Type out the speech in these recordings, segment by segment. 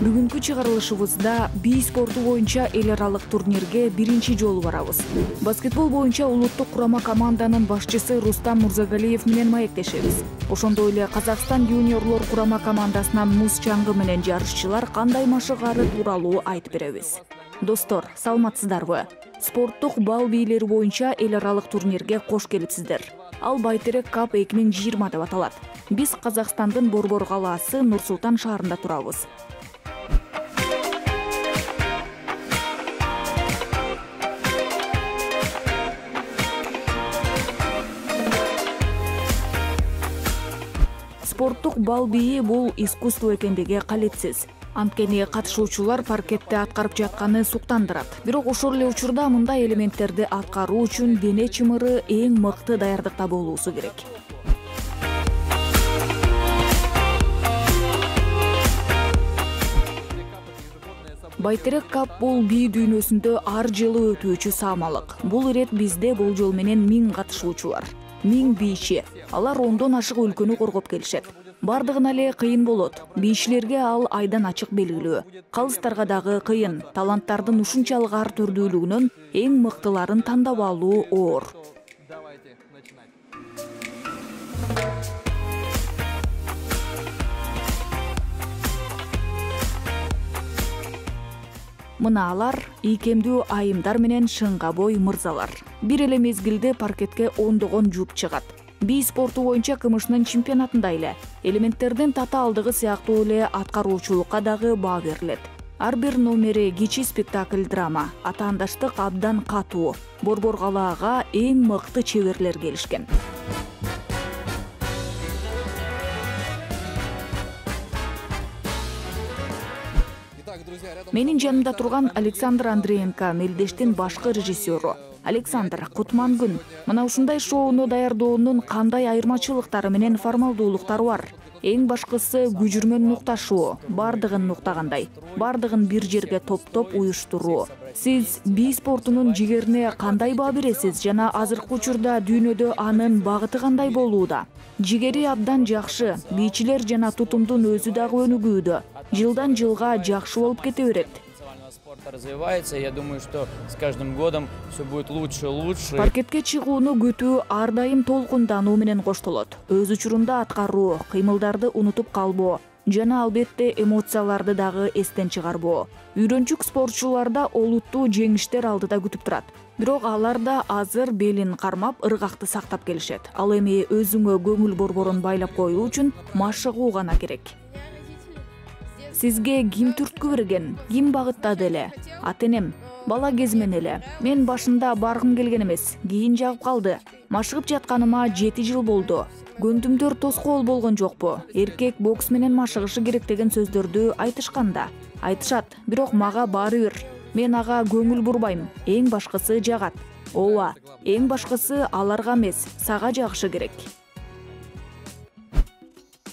Бүгүнкү чыгарылышыбызда бий спорту боюнча эл аралык турнирге биринчи жолу барабыз. Баскетбол боюнча улуттук курама команданын башчысы Рустам Мурзагалиев менен маектешебиз. Ошондой эле Казакстан юниорлор курама командасынан муз чаңгы менен жарышчылар кандай машыгары тууралуу айтып беребиз. Достор, саламатсыздарбы? Спорттук бал бийлери боюнча эл аралык турнирге кош келипсиздер. Ал Байтерек Cup 2020 деп аталат. Биз Казакстандын Борбор калаасы Нур-Султан шаарында турабыз. Спорттук бал бийи бул искусство экендиги калетсиз. Анткени катышуучулар паркетте аткарып жатканы суктандырат. Бирок ошол эле учурда мындай элементтерди аткаруу үчүн дене чымыры эң мыкты даярдыкта болуусу керек. Байтерек Cup бул бий дүйнөсүндө ар жылы өтүүчү саамалык. Бул ирет бизде болжол менен 1000 катышуучулар, 1000 бийчи. Алар 10дон ашык өлкөнү коргоп келишет. Бардыгына эле кыйын болот. Бийчилерге ал айдан ачык белгилүү. Калыстарга дагы кыйын. Таланттардын ушунчалык ар түрдүүлүгүнөн эң мыктыларын тандап алуу оор. Мына алар ийкемдүү айымдар менен шыңга бой мырзалар. Бир эле мезгилде паркетке ондогон жуп чыгат. Бий спорту боюнча КМШнын чемпионатында эле элементтердин тата алдыгы сыяктуу эле аткаруучулукка дагы баа берилет. Ар бир номери кичи спектакль драма, атаандаштык абдан катуу. Борбор калаага эң мыкты чеберлер келишкен. Менин жанымда турган Александр Андреенко, Мелдештин башкы режиссеру. Александр, кутман күн. Мына ушундай шоуну даярдоонун кандай айырмачылыктары менен формалдуулуктары бар? Эң башкысы күжүрмөн нукташуу, бардыгын нуктагандай, бардыгын бир жерге топтоп уюштуруу. Сиз бий спортунун жигерине кандай баа бересиз жана азыркы учурда дүйнөдө анын багыты кандай болууда? Жигери абдан жакшы, бийчилер жана тутумдун өзү дагы өнүгүүдө. Жылдан жылга жакшы болуп кете берет. Развивается, я думаю, что с каждым годом все будет лучше и лучше. Паркетке чыгууну күтүү ар дайым толкундануу менен коштолот. Өз учурунда аткаруу, кыймылдарды унутуп калбоо жана албетте эмоцияларды дагы эстен чыгарбоо. Үйрөнчүк спортчуларда олуттуу жеңиштер алдыда күтүп турат. Бирок алар да азыр белин кармап, ыргакты сактап келишет. Ал эми өзүңө көңүл борборун байлап коюу үчүн машыгуу гана керек. Сизге ким түрткү берген, ким багыттады эле? Ата-энем, бала кезимен эле. Мен башында баргым келген эмес, кийин жагып калды. Машыгып жатканыма 7 жыл болду. Көндүмдөр тоскоол болгон жокпу? Эркек бокс менен машыгышы керек деген сөздөрдү айтышканда. Айтышат, бирок мага баары бир. Мен ага көңүл бурбайм. Эң башкысы жагат. Ооба, эң башкысы аларга эмес, сага жагышы керек.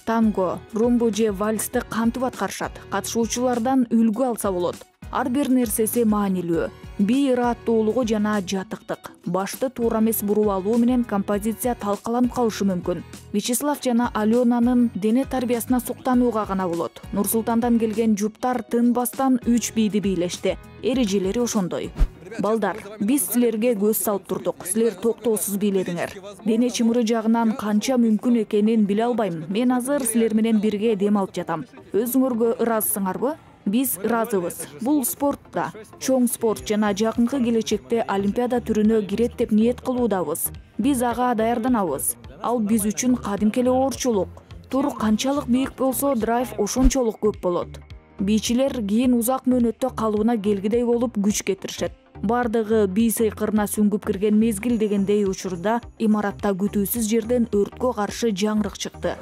Танго, румбу же вальсти кантип аткарышат? Катышуучулардан үлгү алса болот. Ар бир нерсеси маанилүү. Бий ыраттуулугу жана жатыктык. Башты туура эмес буруп алуу менен композиция талкаланып калышы мүмкүн. Вячеслав жана Аленанын дене тарбиясына суктанууга гана болот. Нур-Султандан келген жуптар тынбастан 3 бийди бийлешти. Эрежелери ошондой. Балдар, биз силерге көз салып турдук. Силер токтоосуз бийледиңер. Дене чымыры жагынан канча мүмкүн экенин биле албайм. Мен азыр силер менен бирге дем алып жатам. Өзүңөргө ыраазысыңарбы? Биз ыраазыбыз. Бул спорт да, чоң спорт жана жакынкы келечекте Олимпиада түрүнө кирет деп ниет кылуудабыз. Биз ага даярданабыз. Ал биз үчүн кадимки эле оорчулук. Тур канчалык бийик болсо, драйв ошончолук көп болот. Бийчилер кийин узак мөөнөттө калыбына келгидей болуп күч кетиришет. Бардыгы бий сыйкырына сүңгүп кирген мезгил дегендей учурда имаратта күтүүсүз жерден өрткө каршы жаңырык чыкты.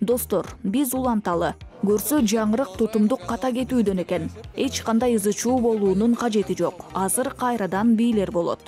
Достор, биз уланталы. Көрсө жаңырык тутумдук ката кетүүдөн экен. Эч кандай ызы-чуу болуунун кажети жок. Азыр кайрадан бийлер болот.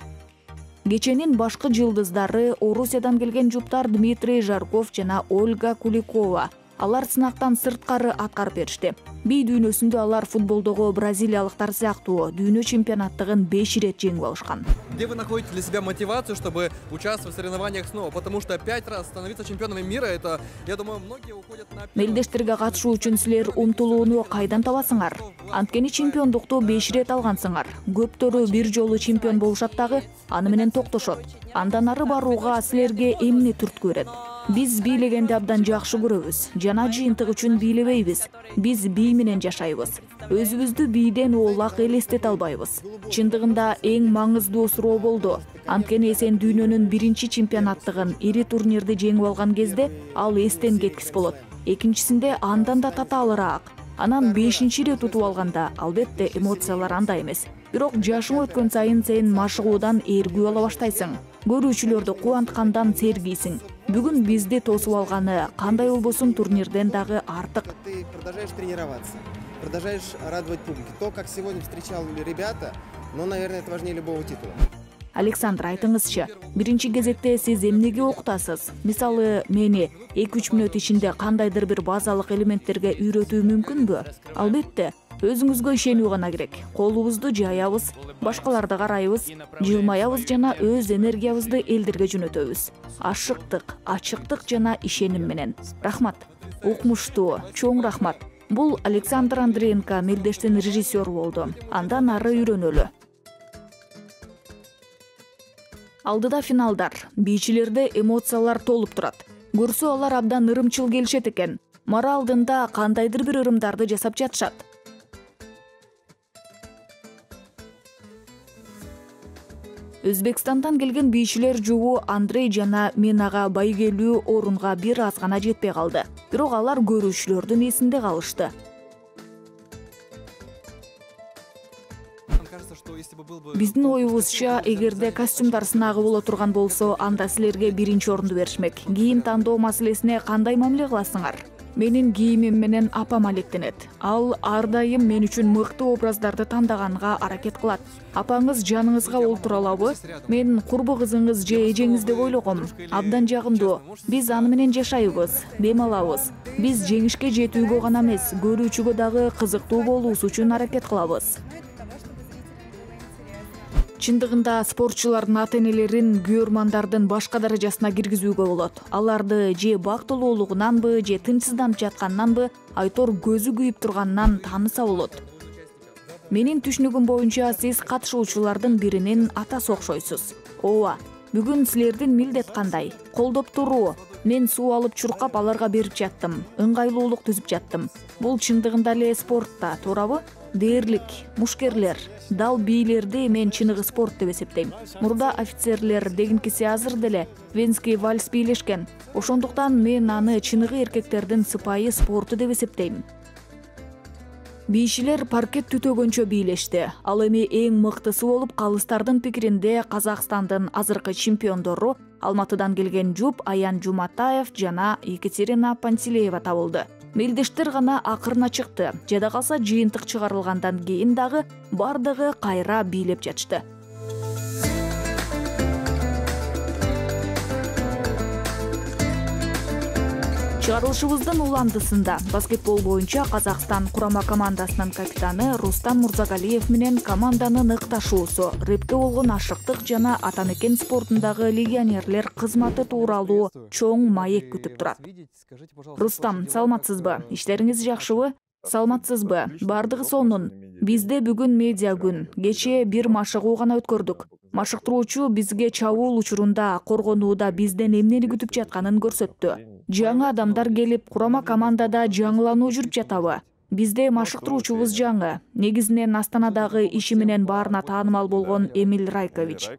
Кеченин башкы жылдыздары Орусиядан келген жуптар Дмитрий Жарков жана Ольга Куликова. Алар сынактан сырткары аткарып беришти. Би дүйнөсүндө алар футболдогу бразилиялыктар сыяктуу дүйнө чемпионаттыгын 5 ирет жеңип алышкан. Где вы находите для себя мотивацию, чтобы участвовать в соревнованиях снова? Потому что 5 раз становиться чемпионами мира, это, я думаю, многие уходят на... Мелдештерге катышуу үчүн силер умтулууну кайдан табасыңар? Анткени чемпиондукту 5 ирет алгансыңар. Көптөрү бир жолу чемпион болушат дагы, аны менен токтошот. Андан ары барууга силерге эмне түрткү берет? Биз бийлегенди абдан жакшы көрөбүз. Жана жыйынтык үчүн бийлебейбиз. Биз бий менен жашайбыз. Өзүбүздү бийден оолак элестете албайбыз. Чындыгында эң маңыздуу суроо болду. Анткени сен дүйнөнүн биринчи чемпионаттыгын, ири турнирди жеңип алган кезде ал эстен кеткис болот. Экинчисинде андан да татаалыраак. Анан 5-чи ирет утуп алганда, албетте эмоциялар андай эмес. Бирок жашың өткөн сайын сен машыгуудан эргүү ала баштайсың. Көрүүчүлөрдү кубанткандан сергийсиң. Бүгүн бизди тосуп алганы кандай болбосун турнирден дагы артык. Ты продолжаешь тренироваться, продолжаешь радовать публику. То, как сегодня встречал ребята, но, наверное, это важнее любого титула. Александр, айтыңызчы, биринчи кезекте сиз эмнеге окутасыз? Мисалы, мени 2-3 мүнөт ичинде кандайдыр бир базалык элементтерге үйрөтүү мүмкүнбү? Албетте, өзүңүзгө ишенүү гана керек. Колубузду жаябыз, башкаларды карайбыз, жылмаябыз жана өз энергиябызды элдерге жөнөтөбүз. Ашыктык, ачыктык жана ишеним менен. Рахмат. Укмуштуу, чоң рахмат. Бул Александр Андреенко Мелдештин режиссеру болду. Андан ары үйрөнөлү. Алдыда финалдар. Бийчилерде эмоциялар толуп турат. Көрсө алар абдан ырымчыл келишет экен. Мара алдында кандайдыр бир ырымдарды жасап жатышат. Өзбекстандан келген бийчилер жугу Андрей жана мен ага байгелүү орунга бир аз гана жетпей калды. Бирок алар көрүүчүлөрдүн эсинде калышты. Биздин оюбузча, эгерде костюмдар сынагы боло турган болсо, анда силерге биринчи орунду беришмек. Кийим тандоо маселесине кандай мамиле кыласыңар? Менин кийимим менен апам алектенет. Ал ар дайым мен үчүн мыкты образдарды тандаганга аракет кылат. Апаңыз жаныңызга олтура алабы? Мен курбу кызыңыз же эжеңиз деп ойлогом. Абдан жагымдуу. Биз аны менен жашайбыз, дем алабыз. Биз жеңишке жетүүгө гана эмес, көрүүчүгө дагы кызыктуу болуусу үчүн аракет кылабыз. Чындыгында спортчулардын ата-энелерин күйөрмандардын башка даражасына киргизүүгө болот. Аларды же бактылуулугунанбы, же тынчсызданып жатканнанбы, айтор көзү күйүп турганынан тааныса болот. Менин түшүнүгүм боюнча сиз катышуучулардын биринин атасы окшойсуз. Ооба, бүгүн силердин милдет кандай? Колдоп туруу. Мен суу алып чуркап аларга берип жаттым. Ыңгайлуулук түзүп жаттым. Бул чындыгында эле спортта, туурабы? Дээрлик, мушкерлер, дал бийлерди мен чыныгы спорт деп эсептейм. Мурда офицерлер дегенкиси азыр деле венский вальс бийлешкен. Ошондуктан мен аны чыныгы эркектердин сыпайы спорту деп эсептейм. Бийчилер паркет түтөгөнчө бийлешти. Ал эми эң мыктысы болуп, калыстардын пикиринде Казакстандын азыркы чемпиондору Алматыдан келген Жуп Аян Жуматаев жана Екатерина Пантелеева табылды. Мелдештер гана акырына чыкты. Жада калса жыйынтык чыгарылгандан кийин дагы бардыгы кайра бийлеп жатышты. Чыгарылышыбыздын уландысында баскетбол боюнча Казакстан курама командасынын капитаны Рустам Мурзагалиев менен команданын ыкташуусу, рэпке болгон ашыктык жана ата-мекен спортундагы легионерлер кызматы тууралуу чоң маек күтүп турат. Рустам, саламатсызбы? Иштериңиз жакшыбы? Саламатсызбы? Бардыгы сонун. Бизде бүгүн медиа күн. Кечээ бир машыгуу гана өткөрдүк. Машыктыруучу бизге чабуул учурунда коргонууда бизден эмнени күтүп жатканын көрсөттү. Жаңы адамдар келип, курама командада жаңылануу жүрүп жатабы? Бизде машыктыруучубуз жаңы. Негизинен Астанадагы иши менен баарына таанымал болгон Эмиль Райкович.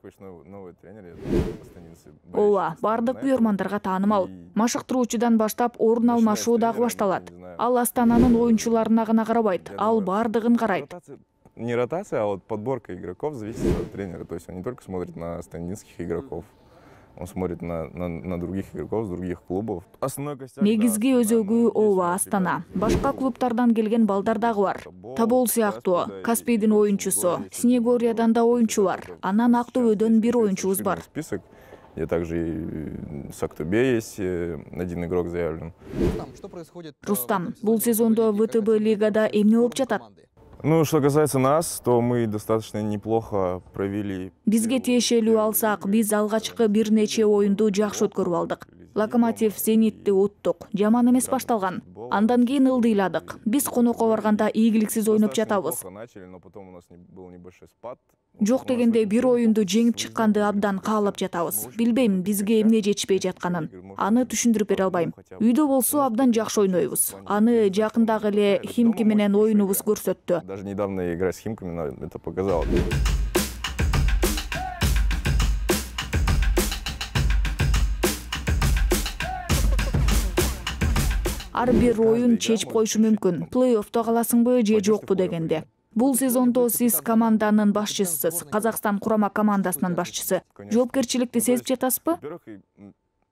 Ооба, бардык күйөрмандарга таанымал. Машыктыруучудан баштап орун алмашуу дагы башталат. Ал Астананын оюнчуларына гана карабайт, ал бардыгын карайт. Не ротация, а вот подборка игроков зависит от тренера. То есть он не только смотрит на станинских игроков, он смотрит на других игроков с других клубов. Негизги өзөгү ооба Астана. Башка клубтардан келген балдар дагы бар. Табол сыяктуу, Каспийдин оюнчусу, Снегориядан да оюнчу бар. Анан Актөбөдөн бир оюнчубуз бар. Список И также и с Актобе есть один игрок заявлен. Что происходит? Рустам, бул сезондо ВТБ лигада эмне болуп жатат? Ну, что касается нас, то мы достаточно неплохо провели. Бизге тиешелүү алсак, биз алгачкы бир нече оюнду жакшы өткөрүп алдык. Локомотив Зенитти уттук. Жаман эмес башталган. Андан кийин ылдыйладык. Биз конокко барганда ийгиликсиз ойноп жатабыз. Жок дегенде бир оюнду жеңип чыкканды абдан каалап жатабыз. Билбейм бизге эмне жетишпей жатканын. Аны түшүндүрүп бере албайм. Үйдө болсо абдан жакшы ойнойбуз. Аны жакындагы эле Химки менен оюнубуз көрсөттү. Даже недавно игра с Химками это показала. Ар бир оюн чечип коюшу мүмкүн. Плей-оффто каласыңбы же жокпу дегенде. Бул сезондо сиз команданын башчысысыз, Казакстан курама командасынын башчысы. Жоопкерчиликти сезип жатасызбы?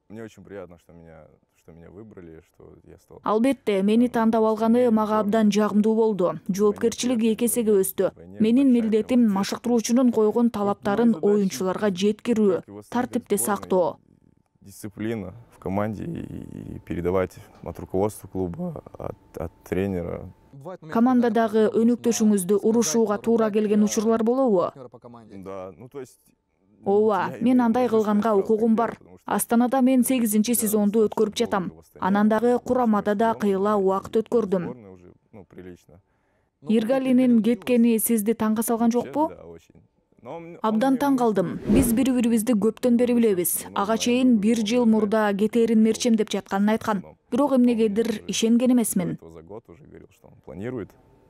Мне очень приятно, что меня выбрали, что я стал. Албетте, мени тандап алганы мага абдан жагымдуу болду. Жоопкерчилик эки эсеге өстү. Менин милдетим машыктыруучунун койгон талаптарын оюнчуларга жеткирүү, тартипти сактоо. Дисциплина в команде и передавать от руководства клуба, от тренера. Командадагы өнөктөшүңүздү урушууга туура келген учурлар болобу? Да, ну то есть. Ооба, мен андай кылганга укугум бар. Астанада мен 8-сезонду өткөрүп жатам. Анан дагы курамада да кыйла убакыт өткөрдүм. Иргалинин кеткени сизди таңга салган жокпу? Абдан таң калдым. Биз бири-бирибизди көптөн бери билебиз. Ага чейин 1 жыл мурда кетерин мерчемдеп жатканын айткан. Бирок эмнегедир ишенген эмесмин.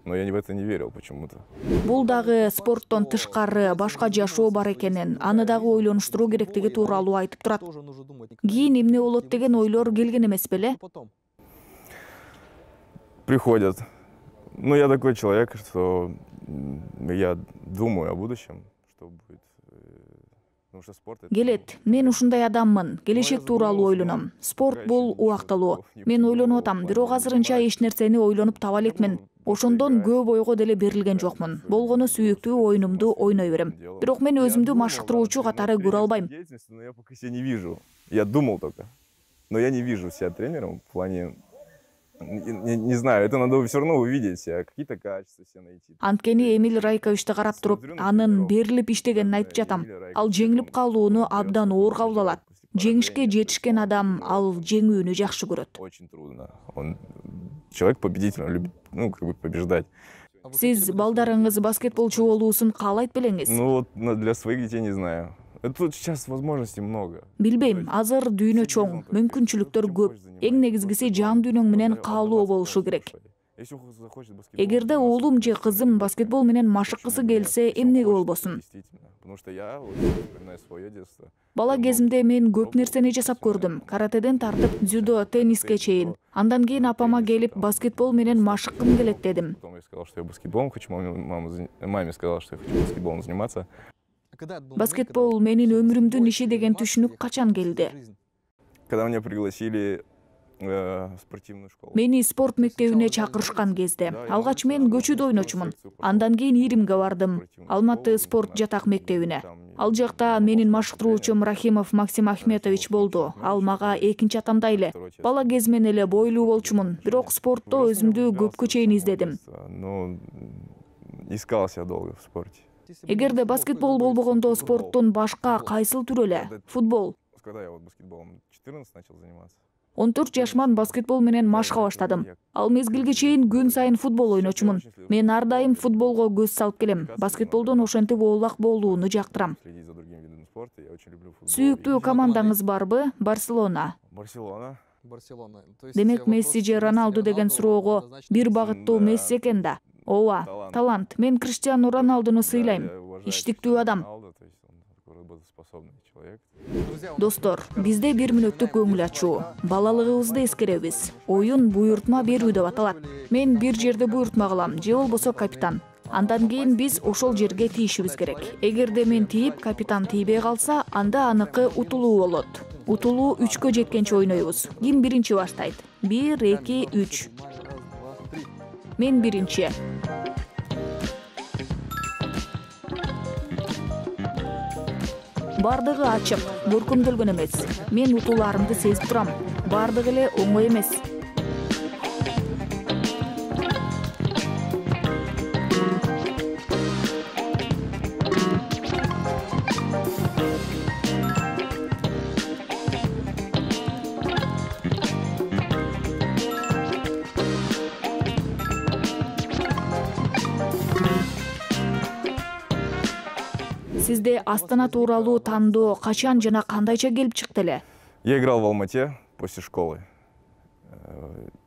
Но я в это не верил почему-то. Бул дагы спорттон тышкары башка жашоо бар экенин, аны дагы ойлонуштуруу керектиги тууралуу айтып турат. Кийин эмне болот деген ойлор келген эмес беле? Приходят. Ну, я такой человек, что я думаю о будущем, что будет. Келет, мен ушундай адаммын, келечек тууралуу ойлоном. Спорт бул убактылуу. Мен ойлонуп атам, бирок азырынча эч нерсени ойлонуп таба элекмин. Ошондон көп ойго деле берилген жокмун. Болгону сүйүктүү оюнумду ойной берем. Бирок мен өзүмдү машыктыруучу катары көрө албайм. Я пока себя не вижу. Я думал только. Но я не вижу себя тренером в плане. Не знаю, это надо все равно увидеть, какие-то качества себе найти. Анткени Эмиль Райковичти карап туруп, анын берилип иштегенин айтып жатам. Ал жеңилип калууну абдан оор кабыл алат. Жеңишке жетишкен адам ал жеңүүнү жакшы көрөт. Очень трудно. Он человек победитель, он любит, побеждать. Сиз балдарыңыз баскетболчу болуусун каалайт белеңиз? Ну вот для своих детей не знаю. Тут сейчас возможностей много. Билбейм, азыр дүйнө чоң, мүмкүнчүлүктөр көп. Эң негизгиси жан дүйнөң менен каалоо болушу керек. Эгерде уулум же кызым баскетбол менен машыккысы келсе, эмнеге болбосун? Бала кезимде мен көп нерсени жасап көрдүм. Каратеден тартып, дзюдо, тенниске чейин. Андан кийин апама келип, баскетбол менен машыккым келет дедим. Я сказал, что я баскетболом хочу, маме сказала, что я хочу баскетболом заниматься. Баскетбол менин өмүрүмдүн иши деген түшүнүк качан келди? Когда меня пригласили в спортивную школу. Мени спорт мектебине чакырышкан кезде. Алгач мен көчүдө ойночумун. Андан кийин Иримге бардым. Алматы спорт жатак мектебине. Ал жакта менин машыктыруучум Рахимов Максим Ахметович болду. Ал мага экинчи атамдай эле. Бала кезимен эле бойлуу болчумун. Бирок спортто өзүмдү көпкө чейин издедим. Ну, искал себя долго в спорте. Эгерде баскетбол болбогондо спорттун башка кайсыл түрү эле? Футбол. Когда я баскетболом 14 начал заниматься. 14 жашыман баскетбол менен машыга баштадым. Ал мезгилге чейин күн сайын футбол ойночумун. Мен ар дайым футболго көз салып келем. Баскетболдон ошентип оолак болууну жактырам. Сүйүктүү командаңыз барбы? Барселона. Барселона. Демек Месси же Роналду деген суроого бир багыттуу Месси экен да. Ооба, талант. Мен Криштиану Роналдуну сыйлайм. Иштиктүү адам. Достор, бизде 1 мүнөттүк көңүл ачуу. Балалыгыбызды эскеребиз. Оюн буйртма берүү деп аталат. Мен бир жерде буйртма кылам, же болбосо капитан. Андан кийин биз ошол жерге тийишибиз керек. Эгерде мен тийип, капитан тийбей калса, анда аныкы утулуу болот. Утулуу 3кө жеткенче ойнойбуз. Ким биринчи баштайт? 1, 2, 3. Мен биринчи. Бардыгы ачык, көркөмдөлгөн эмес. Мен утууларымды сезип турам. Бардыгы эле оңой эмес. Сизде Астана тууралуу тандоо качан жана кандайча келип чыкты эле? Я играл в Алмате после школы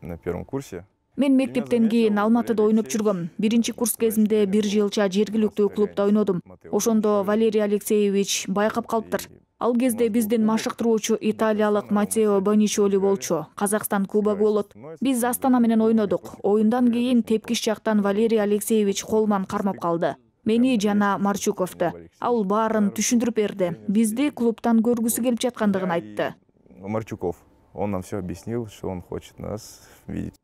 на первом курсе. Мен мектептен кийин Алматыда ойноп жүргөм. Биринчи курс кезимде бир жылча жергиликтүү клубда ойнодум. Ошондо Валерий Алексеевич байкап калыптыр. Ал кезде биздин машыктыруучу италиялык Матео Боничоли болчу. Казакстан кубогу болот. Биз Астана менен ойнодук. Оюндан кийин тепкич жактан Валерий Алексеевич колман кармап калды. Мени жана Марчуковду. Ал баарын түшүндүрүп берди. Бизди клубтан көргүсү келип жаткандыгын айтты. Марчуков, он нам все объяснил, что он хочет нас видеть.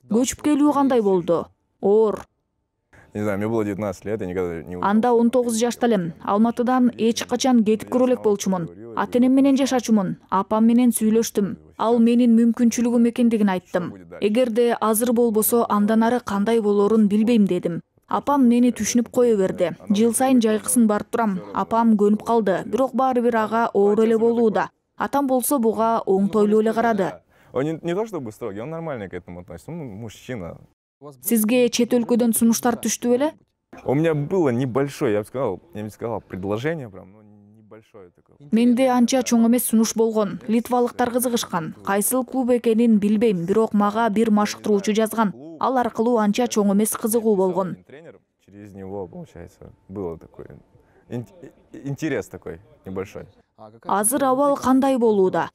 Көчүп келүү кандай болду? Оор. Не знаю, мне было 19 лет, я никогда не... Анда 19 жашта элем. Алматыдан эч качан кетип көрө элек болчумун. Ата-энем менен жашачумун. Апам менен сүйлөштүм. Ал менин мүмкүнчүлүгүм экендигин айттым. Эгерде азыр болбосо андан ары кандай болорун билбейм дедим. Апам мени түшүнүп кое берди. Жыл сайын жайкысын барып турам. Апам көнүп калды. Бирок баары бир ага оор эле болууда. Атам болсо буга оңтойлуу эле карады. Он не то чтобы строгий, он нормально к этому относится. Он мужчина. Сизге чет өлкөдөн сунуштар түштү беле? У меня было небольшое, я бы сказал, предложение прям, но небольшое такое. Менде анча чоң эмес сунуш болгон. Литвалыктар кызыгышкан. Кайсыл клуб экенин билбейм, бирок мага бир машыктыруучу жазган. Ал аркылуу анча чоң эмес кызыгуу болгон. Через него, получается, было такое интерес такой небольшой. Азыр абал кандай болууда?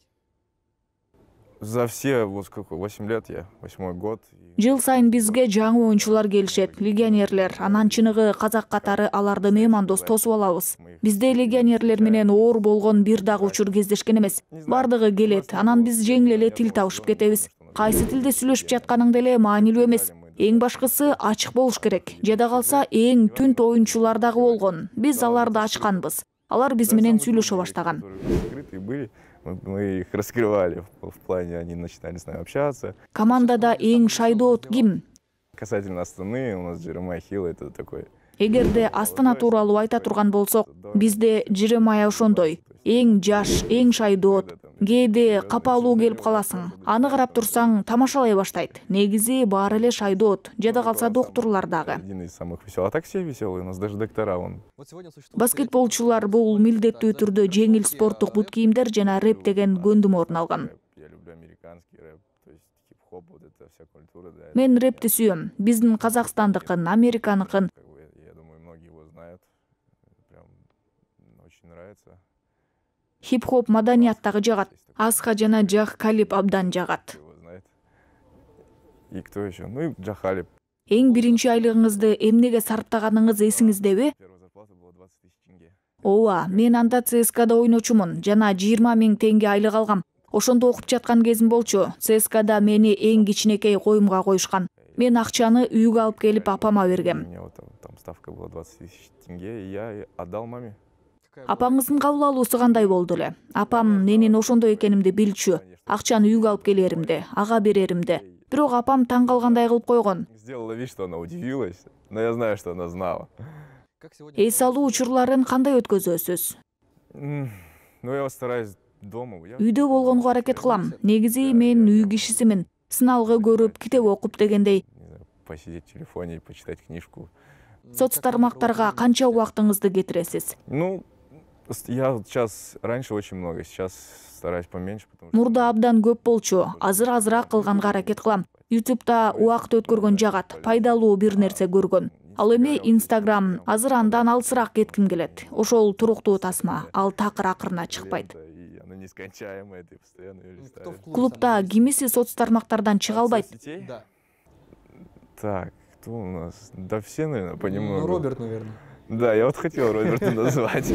За все, вот сколько, 8 лет я, 8-й год. Жыл сайын бизге жаңы оюнчулар келишет, легионерлер. Анан чыныгы казак катары аларды меймандос тосуп алабыз. Бизде легионерлер менен оор болгон бир дагы учур кездешкен эмес. Бардыгы келет, анан биз жеңил эле тил табышып кетебиз. Кайсы тилде сүйлөшүп жатканың деле маанилүү эмес. Эң башкысы ачык болуш керек. Жада калса эң түнт оюнчулар дагы болгон. Биз аларды ачканбыз. Алар биз менен сүйлөшө баштаган. Мы их раскрывали в плане, они начинали с нами общаться. Командада эң шайдоот ким? Касательно Астаны, у нас Джеремай Хилл, это такой. Эгерде Астана тууралуу айта турган болсок, бизде Джеремай ошондой. Эң жаш, эң шайдоот. Кээде капалуу келип каласың. Аны карап турсаң, тамашалай баштайт. Негизи баары эле шайдоот. Жада калса доктурлар дагы. Один из самых веселых. А так все веселые, у нас даже доктора вон. Баскетболчулар бул милдеттүү түрдө жеңил спорттук бут кийимдер жана рэп деген көндүм орун алган. Я люблю американский рэп, то есть хип-хоп, вот эта вся культура, да. Мен рэпти сүйөм. Биздин Казакстандыкын, Американыкын. Я думаю, многие его знают. Прям очень нравится. Хип-хоп маданияттагы жагат. Асха жана Джах Калиб абдан жагат. Его знает. И кто еще? Ну и Джахалип. Эң биринчи айлыгыңызды эмнеге сарптаганыңыз эсиңиздеби? Первая зарплата была 20 000 тенге. Ооба, мен анда ЦСКАда ойночумун жана 20 000 теңге айлык алгам. Ошондо окуп жаткан кезим болчу. ЦСКАда мени эң кичинекей коюмга коюшкан. Мен акчаны үйгө алып келип апама бергем. У меня вот там ставка была 20 000 тенге, и я отдал маме. Апаңыздын кабыл алуусу кандай болду эле? Апам менин ошондой экенимди билчү. Акчаны үйгө алып келеримди, ага береримди. Бирок апам таң калгандай кылып койгон. Сделала вид, что она удивилась, но я знаю, что она знала. Эс алуу учурларын кандай өткөзөсүз? Ну, я стараюсь дома. Үйдө болгонго аракет кылам. Негизи мен үй кишисимин. Сыналгы көрүп, китеп окуп дегендей. Посидеть в телефоне и почитать книжку. Соц тармактарга канча убактыңызды кетиресиз? Ну, я сейчас раньше очень много, сейчас стараюсь поменьше, потому что... Мурда абдан көп болчу. Азыр азыраак кылганга аракет кылам. YouTube'да убакыт өткөргөн жагат, пайдалуу бир нерсе көргөн. Ал эми Instagram, азыр андан алысыраак кетким келет. Ошол туруктуу тасма, ал такыр акырына чыкпайт. Клубда кимиси соц тармактардан чыга албайт? Так, кто у нас? Да все, наверное, понемногу. Ну, Роберт, наверное. Да, я вот хотел Роберта назвать.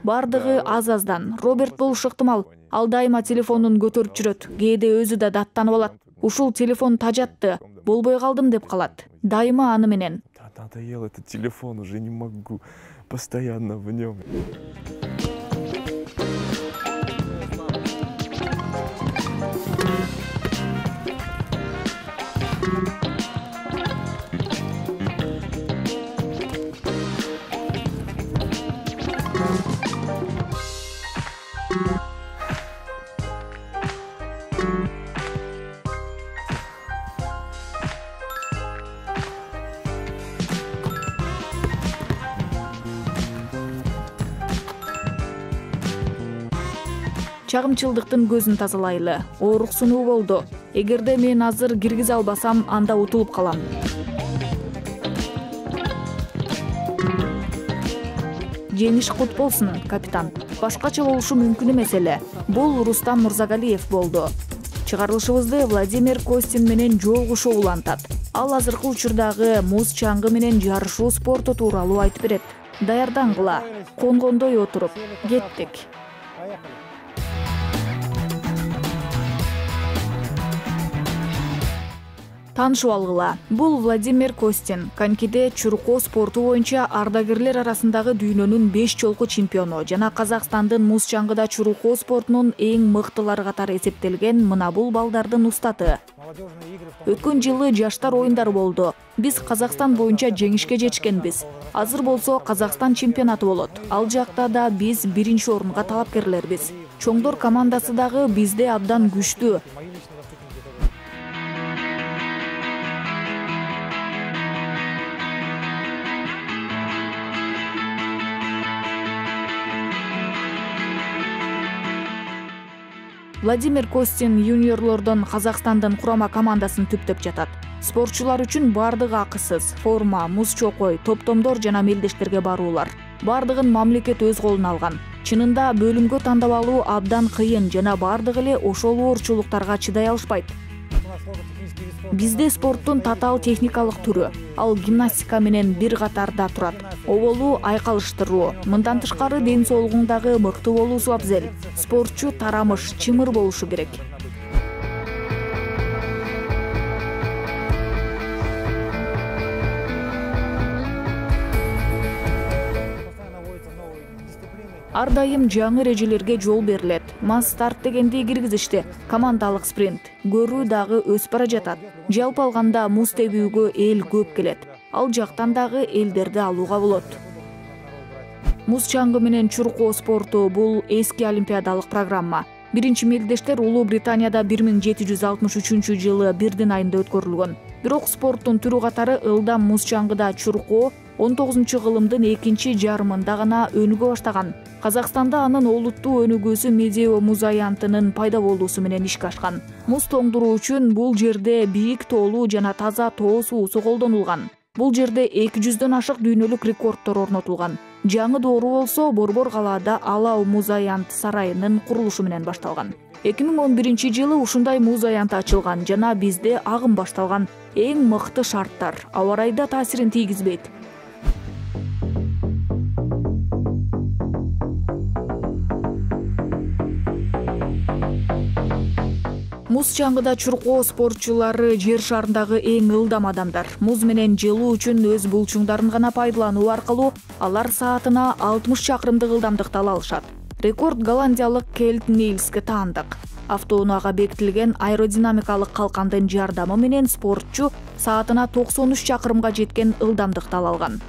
Бардыгы аз-аздан. Роберт болушу ыктымал. Ал дайыма телефонун көтөрүп жүрөт. Кээде өзү да даттанып алат. Ушул телефон тажатты, болбой калдым деп калат. Дайыма аны менен. Да, надоел этот телефон, уже не могу. Постоянно в нем. Чагымчылдыктын көзүн тазалайлы. Оорук сунуу болду. Эгерде мен азыр киргизе албасам, анда утулуп калам. Жеңиш кут болсун, капитан. Башкача болушу мүмкүн эмес эле. Бул Рустам Мурзагалиев болду. Чыгарылышыбызды Владимир Костин менен жолугушуу улантат. Ал азыркы учурдагы муз чаңгы менен жарышуу спорту тууралуу айтып берет. Даярдангыла, конгондой отуруп, кеттик. Таанышып алгыла. Бул Владимир Костин, конькиде чуркоо спорту боюнча ардагерлер арасындагы дүйнөнүн 5 жолку чемпиону жана Казакстандын муз чаңгыда чуркоо спортунун эң мыктылары катары эсептелген мына бул балдардын устаты. Өткөн жылы жаштар оюндары болду. Биз Казакстан боюнча жеңишке жетишкенбиз. Азыр болсо Казакстан чемпионаты болот. Ал жакта да биз 1-орунга талапкерлербиз. Чоңдор командасы дагы бизде абдан күчтүү. Владимир Костин юниорлордон Казакстандын курама командасын түптөп жатат. Спортчулар үчүн бардыгы акысыз. Форма, муз чокой, топтомдор жана мелдештерге баруулар. Бардыгын мамлекет өз колуна алган. Чынында бөлүмгө тандап алуу абдан кыйын жана бардыгы эле ошол оорчулуктарга чыдай алышпайт. Бизде спорттун татаал техникалык түрү. Ал гимнастика менен бир катарда турат. Оболу айкалыштыруу. Мындан тышкары ден соолугуңдагы мыкты болуусу абзел. Спортчу тарамыш, чымыр болушу керек. Ар дайым жаңы эрежелерге жол берилет. Масс-старт дегенди киргизишти. Командалык спринт. Көрүү дагы өсүп бара жатат. Жалпы алганда муз тебүүгө эл көп келет. Ал жактан дагы элдерди алууга болот. Муз чаңгы менен чуркоо спорту бул эски олимпиадалык программа. Биринчи мелдештер Улуу Британияда 1763-жылы бирдин айында өткөрүлгөн. Бирок спорттун түрү катары ылдам муз чаңгыда чуркоо 19-кылымдын экинчи жарымында гана өнүгө баштаган. Казакстанда анын олуттуу өнүгүүсү Медео муз аянтынын пайда болуусу менен ишке ашкан. Муз тоңдуруу үчүн бул жерде бийик тоолуу жана таза тоо суусу колдонулган. Бул жерде 200дөн ашык дүйнөлүк рекорддор орнотулган. Жаңы доору болсо Борбор калаада Алау муз аянт сарайынын курулушу менен башталган. 2011-жылы ушундай муз аянты ачылган жана бизде агым башталган. Эң мыкты шарттар аба ырайда таасирин тийгизбейт. Муз чаңгыда чуркоо спортчулары жер шарындагы эң ылдам адамдар. Муз менен жылуу үчүн өз булчуңдарын гана пайдалануу аркылуу алар саатына 60 чакырымдык ылдамдыкты ала алышат. Рекорд голландиялык Кельт Нильске таандык. Автоунаага бекитилген аэродинамикалык калкандын жардамы менен спортчу саатына 93 чакырымга жеткен ылдамдыкты ала алган.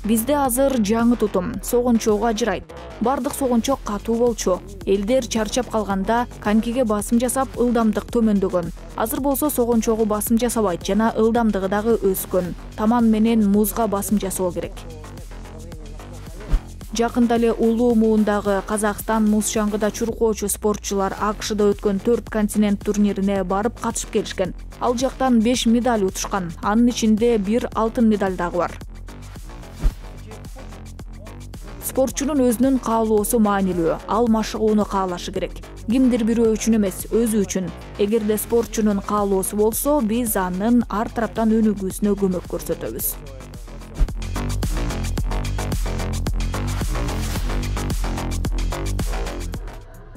Бизде азыр жаңы тутум согончоого ажырайт. Бардык согончок катуу болчу. Элдер чарчап калганда конькиге басым жасап ылдамдык төмөндөгөн. Азыр болсо согончогу басым жасабайт жана ылдамдыгы дагы өскөн. Таман менен музга басым жасоо керек. Жакында эле Улуу муундагы Казакстан муз чаңгыда чуркоочу спортчулар АКШда өткөн 4 континент турнирине барып катышып келишкен. Ал жактан 5 медаль утушкан. Анын ичинде 1 алтын медаль дагы бар. Спортчунун өзүнүн каалоосу маанилүү. Ал машыгууну каалашы керек. Кимдир бирөө үчүн эмес, өзү үчүн. Эгерде спортчунун каалоосу болсо, биз анын ар тараптан өнүгүүсүнө көмөк көрсөтөбүз.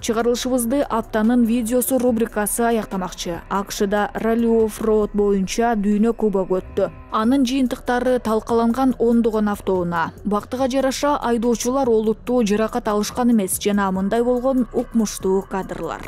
Чыгарылышыбызды аптанын видеосу рубрикасы аяктамакчы. АКШда ралли оффроуд боюнча дүйнө кубогу өттү. Анын жыйынтыктары талкаланган ондогон автоунаа. Бактыга жараша айдоочулар олуттуу жаракат алышкан эмес жана мындай болгон укмуштуу кадрлар.